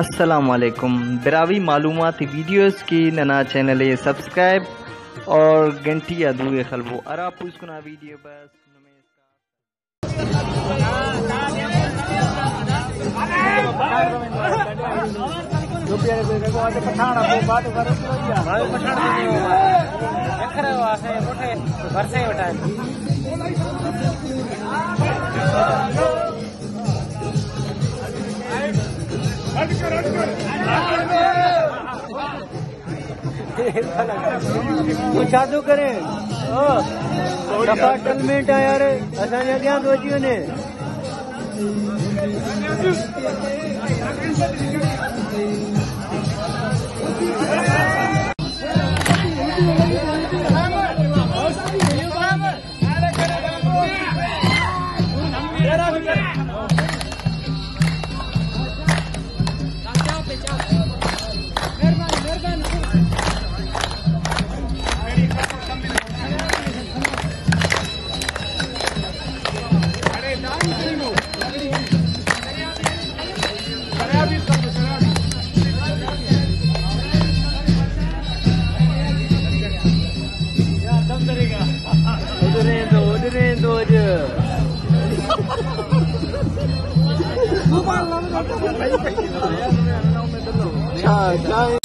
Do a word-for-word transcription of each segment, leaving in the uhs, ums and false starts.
السلام علیکم۔ براہوئی معلوماتی ویڈیوز کہ ننا چینل ءِ سبسکرائب اور گھنٹی آ دورے خلبو، ہرا پوسکنا ویڈیو بس نمے تو چادو کرے۔ او، صفا ٹلمنٹ آ یار، اساں جا گیا دوجیوں نے۔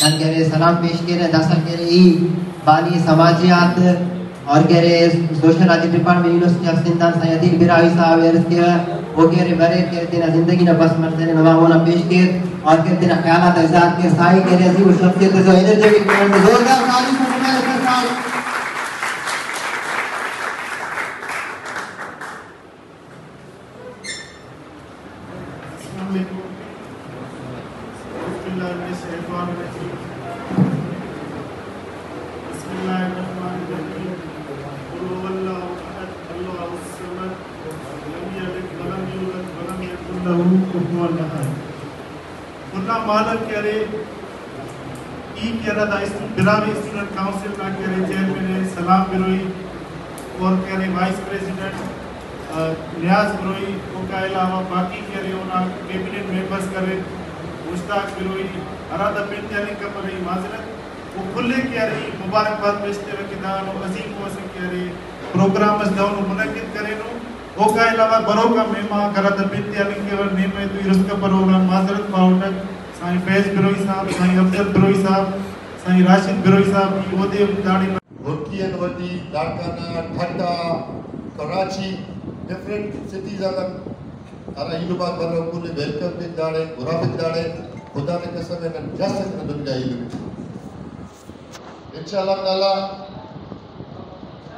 نن کہ ارے سلام پیش کیرہ، داسہ کہ ارے ای بانی سماجیات اور کہ ارے social art department university of Sindh آن سائیں عدیل براہوئی صاحب ءِ عرض کیوہ، او کہ ارے بریک کہ ارے تینا زندگی نا بس منزل ءِ نما مونا پیش کیر اور کہ ارے تینا خیالات آ اظہار کیر۔ سائیں کہ ارے عظیم الشخصیت ءِ، اینرجیٹک مینڈ، زوردار تالی سے نما ایسا سائیں۔ السلام علیکم۔ بسم اللہ من الشیطان الرجیم۔ بسم اللہ الرحمن الرحیم۔ قل هو اللہ احد، اللہ الصمد، لم یلد ولم یولد ولم یکن له کفوا احد۔ ملا مالک کہ ارے، ای کہ ارے دا اسٹو-، براہوئی اسٹوڈنٹ کونسل نا کہ ارے چیئرمین ءِ سلام بروئی اور کہ ارے وائس پریزیڈنٹ، آ، نیاز بروئی، اوکا علاوہ باقی کہ ارے اونا کیبنٹ ممبرز کرے، مشتاق بروئی، ہرا دا پن تے ہلنگ کپرہ، ای معذرت۔ و کل ءِ کہ ارے مبارکباد پیش تیوہ کہ داڑو عظیم و اسہ کہ ارے پروگرام اس دہنو منعقد کرینو۔ اوکا علاوہ بروکا مہمانک ہرا دا پن تے ہلنگ کیوہ، نیم ءِ تو ای رست کپرہ، اوڑان معذرت خواہوٹک۔ سائیں فیض بروئی صاحب، سائیں افضل بروئی صاحب، سائیں راشد بروئی صاحب، ای اودے ہم داڑے۔ ہرکی آن وٹی، لاڑکانہ، ٹھٹہ، کراچی، ڈفرنٹ سٹیز آن ہرا ایلم آک برو، کل ءِ ویلکم پک داڑے، گرافک داڑے، خدا نا قسم ءِ نن جس اٹ نن دنیا ایلم۔ انشاءاللہ تعالی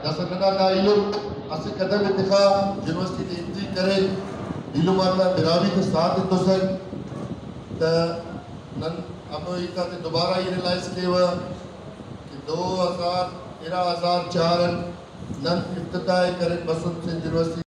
داسہ ننا دا ایلم اسہ قدم ءِ تخا، یونیورسٹی تے انٹری کرے، ایلم آتا براہوئی تے ساتھ ایتوسہ تہ نن ہمو ہیت آتے دوبارہ ای ریئلائز کیوہ کہ دو ہزار، ارا ہزار چار اٹ نن افتتاح ءِ کرین بسن سندھ یونیورسٹی۔